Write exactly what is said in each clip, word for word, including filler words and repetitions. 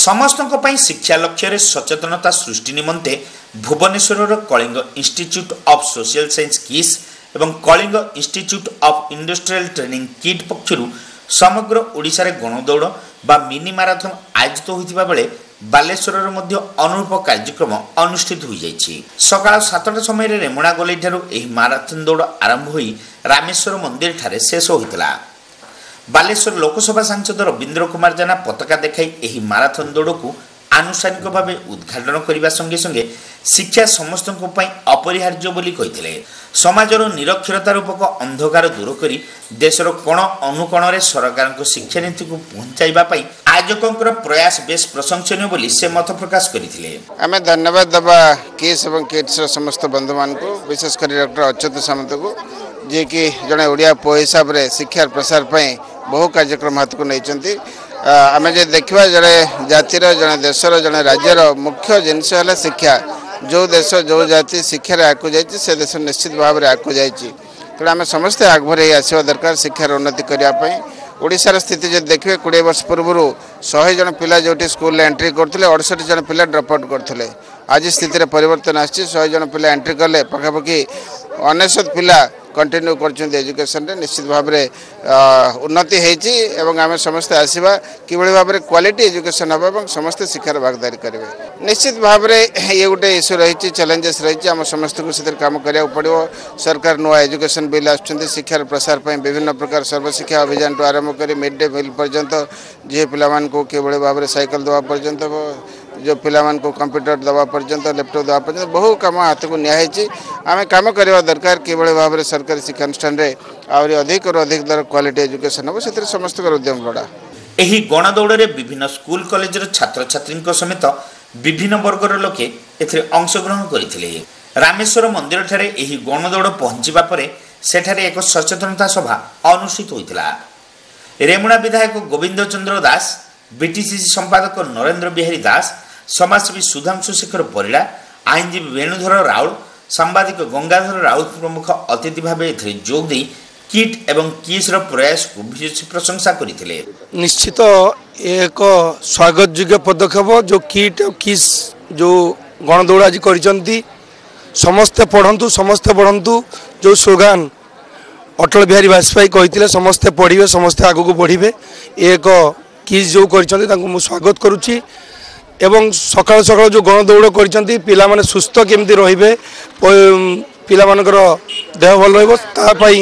ସମସ୍ତଙ୍କ ପାଇଁ ଶିକ୍ଷା ଲକ୍ଷ୍ୟରେ ସଚେତନତା ସୃଷ୍ଟି ନିମନ୍ତେ ଭୁବନେଶ୍ୱରର Kalinga institute of social science kiss ଏବଂ Kalinga institute of industrial training kit ପକ୍ଷରୁ ସମଗ୍ର ଓଡ଼ିଶାରେ ଗଣଦୌଡ଼ ବା ମିନି ମାରାଥନ୍ ଆୟୋଜିତ ହୋଇଥିବା ବେଳେ ବାଲେଶ୍ୱରରେ ମଧ୍ୟ ଅନୁରୂପ କାର୍ଯ୍ୟକ୍ରମ ଅନୁଷ୍ଠିତ ହୋଇଯାଇଛି। ସକାଳ ସାତଟା ସମୟରେ ରେମୁଣା ଗୋଲେଇଠାରୁ ଏହି ମାରାଥନ୍ ଦୌଡ଼ ଆରମ୍ଭ ହୋଇ ରାମେଶ୍ୱର ମନ୍ଦିରଠାରେ ଶେଷ ହୋଇଥିଲା। ବାଲେଶ୍ୱର ଲୋକସଭା ସାଂସଦ ରବୀନ୍ଦ୍ର କୁମାର ଜେନା ପତାକା ଦେଖାଇ ଏହି ମାରାଥନ୍ ଦୌଡ଼କୁ ଆନୁଷ୍ଠାନିକ ଭାବେ ଉଦ୍ଘାଟନ କରିବା ସଙ୍ଗେ ସଙ୍ଗେ ଶିକ୍ଷା ସମସ୍ତଙ୍କ ପାଇଁ ଅପରିହାର୍ଯ୍ୟ ବୋଲି କହିଥିଲେ। ସମାଜର ନିରକ୍ଷରତା ରୂପକ ଅନ୍ଧକାର ଦୂର କରି ଦେଶର କୋଣ ଅନୁକୋଣରେ ସରକାରଙ୍କ ଶିକ୍ଷାନୀତିକୁ ପହଞ୍ଚାଇବା ପାଇଁ ଆୟୋଜକଙ୍କର ପ୍ରୟାସ ବେଶ ପ୍ରଶଂସନୀୟ ବୋଲି ସେ ମତ ପ୍ରକାଶ କରିଥିଲେ। ଆମେ ଧନ୍ୟବାଦ ଦେବା କିସ୍ ଏବଂ କିଟ୍ସର ସମସ୍ତ ବନ୍ଧୁମାନଙ୍କୁ, ବିଶେଷ କରି ଡକ୍ଟର ଅଚ୍ୟୁତ ସାମନ୍ତକୁ, ଯିଏକି ଜଣେ ଓଡ଼ିଆ ପୁଅ ହିସାବରେ ଶିକ୍ଷାର ପ୍ରସାର ପାଇଁ ବହୁ କାର୍ଯ୍ୟକ୍ରମ ହାତକୁ ନେଇଛନ୍ତି। ଆମେ ଯଦି ଦେଖିବା, ଜଣେ ଜାତିର, ଜଣେ ଦେଶର, ଜଣେ ରାଜ୍ୟର ମୁଖ୍ୟ ଜିନିଷ ହେଲା ଶିକ୍ଷା। ଯେଉଁ ଦେଶ, ଯେଉଁ ଜାତି ଶିକ୍ଷାରେ ଆଗକୁ ଯାଇଛି, ସେ ଦେଶ ନିଶ୍ଚିତ ଭାବରେ ଆଗକୁ ଯାଇଛି। ତେଣୁ ଆମେ ସମସ୍ତେ ଆଗଭର ହେଇ ଆସିବା ଦରକାର ଶିକ୍ଷାର ଉନ୍ନତି କରିବା ପାଇଁ। ଓଡ଼ିଶାର ସ୍ଥିତି ଯଦି ଦେଖିବେ, କୋଡ଼ିଏ ବର୍ଷ ପୂର୍ବରୁ ଶହେ ଜଣ ପିଲା ଯେଉଁଠି ସ୍କୁଲରେ ଏଣ୍ଟ୍ରି କରୁଥିଲେ, ଅଠଷଠି ଜଣ ପିଲା ଡ୍ରପ୍ ଆଉଟ୍ କରୁଥିଲେ। ଆଜି ସ୍ଥିତିରେ ପରିବର୍ତ୍ତନ ଆସିଛି। ଶହେ ଜଣ ପିଲା ଏଣ୍ଟ୍ରି କଲେ ପାଖାପାଖି ଅନେଶତ ପିଲା କଣ୍ଟିନ୍ୟୁ କରୁଛନ୍ତି ଏଜୁକେସନରେ। ନିଶ୍ଚିତ ଭାବରେ ଉନ୍ନତି ହେଇଛି ଏବଂ ଆମେ ସମସ୍ତେ ଆସିବା କିଭଳି ଭାବରେ କ୍ୱାଲିଟି ଏଜୁକେସନ୍ ହେବ ଏବଂ ସମସ୍ତେ ଶିକ୍ଷାର ଭାଗିଦାରୀ କରିବେ। ନିଶ୍ଚିତ ଭାବରେ ଇଏ ଗୋଟେ ଇସ୍ୟୁ ରହିଛି, ଚ୍ୟାଲେଞ୍ଜେସ୍ ରହିଛି, ଆମ ସମସ୍ତଙ୍କୁ ସେଥିରେ କାମ କରିବାକୁ ପଡ଼ିବ। ସରକାର ନୂଆ ଏଜୁକେସନ୍ ବିଲ୍ ଆସୁଛନ୍ତି। ଶିକ୍ଷାର ପ୍ରସାର ପାଇଁ ବିଭିନ୍ନ ପ୍ରକାର ସର୍ବଶିକ୍ଷା ଅଭିଯାନଠୁ ଆରମ୍ଭ କରି ମିଡ୍ ଡେ ମିଲ୍ ପର୍ଯ୍ୟନ୍ତ, ଝିଅ ପିଲାମାନଙ୍କୁ କିଭଳି ଭାବରେ ସାଇକେଲ ଦେବା ପର୍ଯ୍ୟନ୍ତ, ଯେଉଁ ପିଲାମାନଙ୍କୁ କମ୍ପ୍ୟୁଟର ଦେବା ପର୍ଯ୍ୟନ୍ତ, ଲ୍ୟାପଟପ୍ ଦେବା ପର୍ଯ୍ୟନ୍ତ ବହୁ କାମ ହାତକୁ ନିଆହେଇଛି। ଆମେ କାମ କରିବା ଦରକାର କିଭଳି ଭାବରେ ସରକାରୀ ଶିକ୍ଷାନୁଷ୍ଠାନରେ ଆହୁରି ଅଧିକରୁ ଅଧିକ ଦର କ୍ୱାଲିଟି ଏଜୁକେସନ୍ ହେବ, ସେଥିରେ ସମସ୍ତଙ୍କର ଉଦ୍ୟମ ଲୋଡ଼ା। ଏହି ଗଣଦୌଡ଼ରେ ବିଭିନ୍ନ ସ୍କୁଲ କଲେଜର ଛାତ୍ରଛାତ୍ରୀଙ୍କ ସମେତ ବିଭିନ୍ନ ବର୍ଗର ଲୋକେ ଏଥିରେ ଅଂଶଗ୍ରହଣ କରିଥିଲେ। ରାମେଶ୍ୱର ମନ୍ଦିରଠାରେ ଏହି ଗଣଦୌଡ଼ ପହଞ୍ଚିବା ପରେ ସେଠାରେ ଏକ ସଚେତନତା ସଭା ଅନୁଷ୍ଠିତ ହୋଇଥିଲା। ରେମୁଣା ବିଧାୟକ ଗୋବିନ୍ଦ ଚନ୍ଦ୍ର ଦାସ, ବିଟିସିସି ସମ୍ପାଦକ ନରେନ୍ଦ୍ର ବିହାରୀ ଦାସ, ସମାଜସେବୀ ସୁଧାଂଶୁ ଶେଖର ପରିଡ଼ା, ଆଇନଜୀବୀ ବେଣୁଧର ରାଉଳ, ସାମ୍ବାଦିକ ଗଙ୍ଗାଧର ରାଉତ ପ୍ରମୁଖ ଅତିଥି ଭାବେ ଏଥିରେ ଯୋଗ ଦେଇ କିଟ୍ ଏବଂ କିସ୍ର ପ୍ରୟାସକୁ ଭୂୟସୀ ପ୍ରଶଂସା କରିଥିଲେ। ନିଶ୍ଚିତ ଏକ ସ୍ୱାଗତ ଯୋଗ୍ୟ ପଦକ୍ଷେପ ଯେଉଁ କିଟ୍ ଆଉ କିସ୍ ଯେଉଁ ଗଣଦୌଡ଼ ଆଜି କରିଛନ୍ତି। ସମସ୍ତେ ପଢ଼ନ୍ତୁ, ସମସ୍ତେ ବଢ଼ନ୍ତୁ, ଯେଉଁ ସ୍ଲୋଗାନ ଅଟଳ ବିହାରୀ ବାଜପେୟୀ କହିଥିଲେ, ସମସ୍ତେ ପଢ଼ିବେ, ସମସ୍ତେ ଆଗକୁ ବଢ଼ିବେ, ଏ ଏକ କିସ୍ ଯେଉଁ କରିଛନ୍ତି ତାଙ୍କୁ ମୁଁ ସ୍ୱାଗତ କରୁଛି। ଏବଂ ସକାଳୁ ସକାଳୁ ଯେଉଁ ଗଣଦୌଡ଼ କରିଛନ୍ତି, ପିଲାମାନେ ସୁସ୍ଥ କେମିତି ରହିବେ, ପିଲାମାନଙ୍କର ଦେହ ଭଲ ରହିବ, ତା ପାଇଁ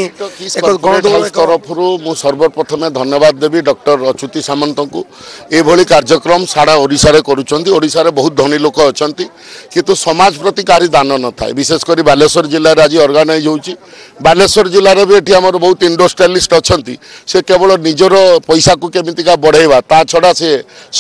ଏକ ଗଣଦୌଡ଼। ତରଫରୁ ମୁଁ ସର୍ବପ୍ରଥମେ ଧନ୍ୟବାଦ ଦେବି ଡକ୍ଟର ଅଚ୍ୟୁତି ସାମନ୍ତଙ୍କୁ। ଏଭଳି କାର୍ଯ୍ୟକ୍ରମ ସାରା ଓଡ଼ିଶାରେ କରୁଛନ୍ତି। ଓଡ଼ିଶାରେ ବହୁତ ଧନୀ ଲୋକ ଅଛନ୍ତି, କିନ୍ତୁ ସମାଜ ପ୍ରତି କାହାରି ଦାନ ନଥାଏ। ବିଶେଷ କରି ବାଲେଶ୍ୱର ଜିଲ୍ଲାରେ ଆଜି ଅର୍ଗାନାଇଜ୍ ହେଉଛି। ବାଲେଶ୍ୱର ଜିଲ୍ଲାରେ ବି ଏଠି ଆମର ବହୁତ ଇଣ୍ଡଷ୍ଟ୍ରିଆଲିଷ୍ଟ ଅଛନ୍ତି। ସେ କେବଳ ନିଜର ପଇସାକୁ କେମିତିକା ବଢ଼େଇବା, ତା ଛଡ଼ା ସେ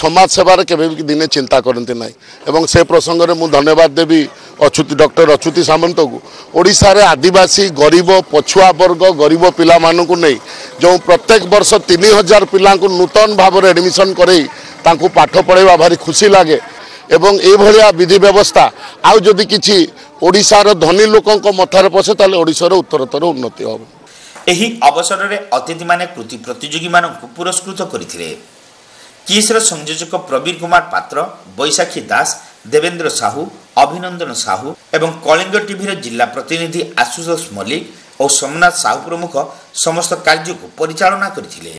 ସମାଜ ସେବାରେ କେବେ ବି ଦିନେ ଚିନ୍ତା କରନ୍ତି ନାହିଁ। ଏବଂ ସେ ପ୍ରସଙ୍ଗରେ ମୁଁ ଧନ୍ୟବାଦ ଦେବି ଅଚ୍ୟୁତି ଡକ୍ଟର ଅଚ୍ୟୁତି ସାମନ୍ତକୁ। ଓଡ଼ିଶାରେ ଆଦିବାସୀ, ଗରିବ, ପଛୁଆ ବର୍ଗ, ଗରିବ ପିଲାମାନଙ୍କୁ ନେଇ ଯେଉଁ ପ୍ରତ୍ୟେକ ବର୍ଷ ତିନି ହଜାର ପିଲାଙ୍କୁ ନୂତନ ଭାବରେ ଆଡ଼ମିସନ୍ କରେଇ ତାଙ୍କୁ ପାଠ ପଢ଼ାଇବା ଭାରି ଖୁସି ଲାଗେ। ଏବଂ ଏଇଭଳିଆ ବିଧି ବ୍ୟବସ୍ଥା ଆଉ ଯଦି କିଛି ଓଡ଼ିଶାର ଧନୀ ଲୋକଙ୍କ ମଥାରେ ପଶେ, ତାହେଲେ ଓଡ଼ିଶାର ଉତ୍ତରୋତ୍ତର ଉନ୍ନତି ହେବ। ଏହି ଅବସରରେ ଅତିଥିମାନେ କୃତି ପ୍ରତିଯୋଗୀମାନଙ୍କୁ ପୁରସ୍କୃତ କରିଥିଲେ। କିସ୍ର ସଂଯୋଜକ ପ୍ରବୀର କୁମାର ପାତ୍ର, ବୈଶାଖୀ ଦାସ, ଦେବେନ୍ଦ୍ର ସାହୁ, ଅଭିନନ୍ଦନ ସାହୁ ଏବଂ କଳିଙ୍ଗ ଟିଭିର ଜିଲ୍ଲା ପ୍ରତିନିଧି ଆଶୁତୋଷ ମଲ୍ଲିକ ଓ ସୋମନାଥ ସାହୁ ପ୍ରମୁଖ ସମସ୍ତ କାର୍ଯ୍ୟକୁ ପରିଚାଳନା କରିଥିଲେ।